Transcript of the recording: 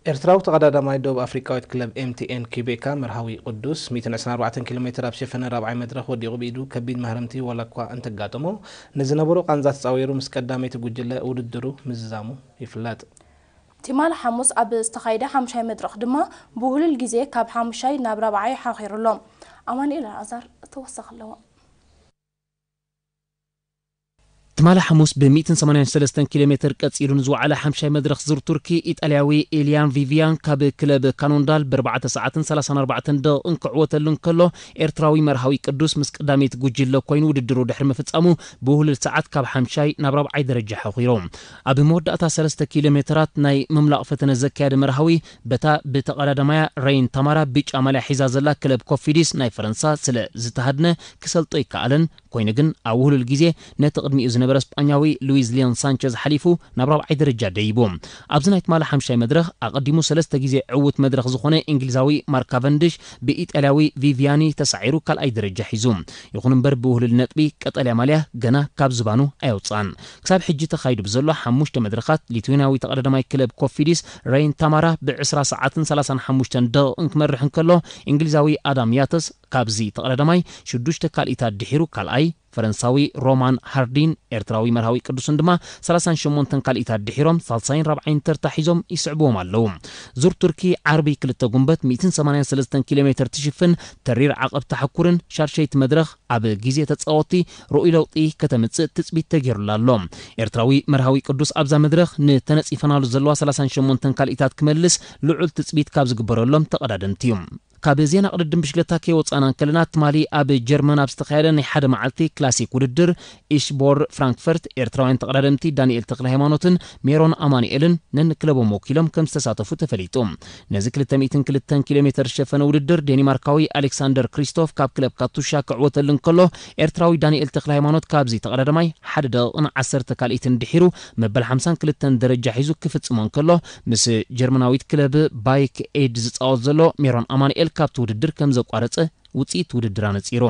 ኤርትራዊ ተቐዳዳማይ ደቡብ ኣፍሪቃዊት ክለብ ኤምቲኤን ኪቤካ መርሃዊ ቅዱስ ሚእትን ዕስራን ኣርባዕተን ኪሎ ሜትር ኣብ ሸፈነ ራብዓይ መድረኽ ወዲቑ ብኢዱ ከቢድ ማህረምቲ ዋላ እኳ እንተጋጠሞ፣ ንዝነበሮ ቃንዛ ተጻዊሩ ምስ ቀዳመይቲ ጉጅለ ውድድሩ ምዝዛሙ ይፍለጥ። ትማሊ ሓሙስ ኣብ ዝተኻየደ ሓምሻይ መድረኽ ድማ ብውህሉል ግዜ ካብ ሓሙሻይ ናብ ራብዓይ ሓኺሩ ኣሎ። ኣማኑኤል ኣልኣዛር ተወሳኺ ኣለዎ። ትማሊ ሓሙስ ብ ሚእትን ሰማንያን ሰለስተን ኪሎ ሜትር ቀጺሉ ንዝወዓለ ሓምሻይ መድረኽ ዙር ቱርኪ፣ ኢጣልያዊ ኢልያን ቪቪያን ካብ ክለብ ካኖንዳል ብ ኣርባዕተ ሰዓትን ሰላሳን ኣርባዕተን ደቂቕን ክዕወተሉ እንከሎ፣ ኤርትራዊ መርሃዊ ቅዱስ ምስ ቀዳመይቲ ጉጅለ ኮይኑ ውድድሩ ድሕሪ ምፍጻሙ፣ ብውህሉል ሰዓት ካብ ሓምሻይ ናብ ራብዓይ ደረጃ ሓኺሩ። ኣብ መወዳእታ ሰለስተ ኪሎ ሜትራት ናይ ምምላቕ ፈተነ ዘካየደ መርሃዊ፣ በታ ብተቐዳዳማያ ረይን ታማራ ብጫ ማልያ ሒዛ ዘላ ክለብ ኮፊዲስ ናይ ፈረንሳ ስለ ዝተሃድነ ክሰልጦ ኣይከኣለን። ኮይኑ ግን ኣብ ውህሉል ግዜ ነቲ ቅድሚኡ ዝነበረ ስጳኛዊ ሉዊዝ ሊዮን ሳንቸዝ ሓሊፉ ናብ ራብዓይ ደረጃ ደይቡ። ኣብዚ ናይ ትማሊ ሓምሻይ መድረኽ ኣቐዲሙ ሰለስተ ግዜ ዕዉት መድረኽ ዝኾነ እንግሊዛዊ ማርክ ካቨንድሽ ብኢጣልያዊ ቪቪያኒ ተሳዒሩ ካልኣይ ደረጃ ሒዙ። ይኹን እምበር ብውህሉል ነጥቢ ቀጠልያ ማልያ ገና ካብ ዝባኑ ኣየውፅኣን። ክሳብ ሕጂ ተኻይዱ ብዘሎ ሓሙሽተ መድረኻት ሊትዌንያዊ ተቐዳዳማይ ክለብ ኮፊዲስ ረይን ታማራ ብ ዕስራ ሰዓትን ሰላሳን ሓሙሽተን ደቂቕን ክመርሕ እንከሎ፣ እንግሊዛዊ ኣዳም ያተስ ካብዚ ተቐዳዳማይ ሽዱሽተ ካልኢታት ድሒሩ ካልኣይ፣ ፈረንሳዊ ሮማን ሃርዲን ኤርትራዊ መርሃዊ ቅዱስን ድማ ሰላሳን ሸሞንተን ካልኢታት ድሒሮም ሳልሳይን ራብዓይን ተርታ ሒዞም ይስዕብዎም ኣለዉ። ዙር ቱርኪ ዓርቢ ክልተ ጉንበት ሚእትን ሰማንያን ሰለስተን ኪሎ ሜትር ትሽፍን ተሪር ዓቐብ ተሓኩርን ሻድሸይቲ መድረኽ ኣብ ግዜ ተጻወትቲ ርኡይ ለውጢ ከተምጽእ ትጽቢት ተገይሩላ ኣሎ። ኤርትራዊ መርሃዊ ቅዱስ ኣብዛ መድረኽ ንተነጺፈናሉ ዘለዋ ሰላሳን ሸሞንተን ካልኢታት ክመልስ ልዑል ትጽቢት ካብ ዝግበረሎም ተቐዳደምቲ እዩ። ካብ ዜና ቅድድም ብሽክለታ ከይወጻና እንከለና፣ ትማሊ ኣብ ጀርመን ኣብ ዝተኻየደ ናይ ሓደ መዓልቲ ክላሲክ ውድድር ኢሽቦር ፍራንክፈርት፣ ኤርትራውያን ተቐዳደምቲ ዳንኤል ተክለ ሃይማኖትን ሜሮን ኣማኑኤልን ነንክለቦም ወኪሎም ከም ዝተሳተፉ ተፈሊጡ። ነዚ ክልተ ሚእትን ክልተን ኪሎ ሜትር ዝሸፈነ ውድድር ዴኒማርካዊ ኣሌክሳንደር ክሪስቶፍ ካብ ክለብ ካቱሻ ክዕወተሉ እንከሎ፣ ኤርትራዊ ዳንኤል ተክለ ሃይማኖት ካብዚ ተቐዳዳማይ ሓደ ደቂቕን ዓሰርተ ካልኢትን ድሒሩ መበል ሓምሳን ክልተን ደረጃ ሒዙ ክፍጽሞ እንከሎ፣ ምስ ጀርመናዊት ክለብ ባይክ ኤድ ዝጻወት ዘሎ ሜሮን ኣማኑኤል ካብቲ ውድድር ከም ዘቋረጸ ውጽኢት ውድድር ኣነጺሩ።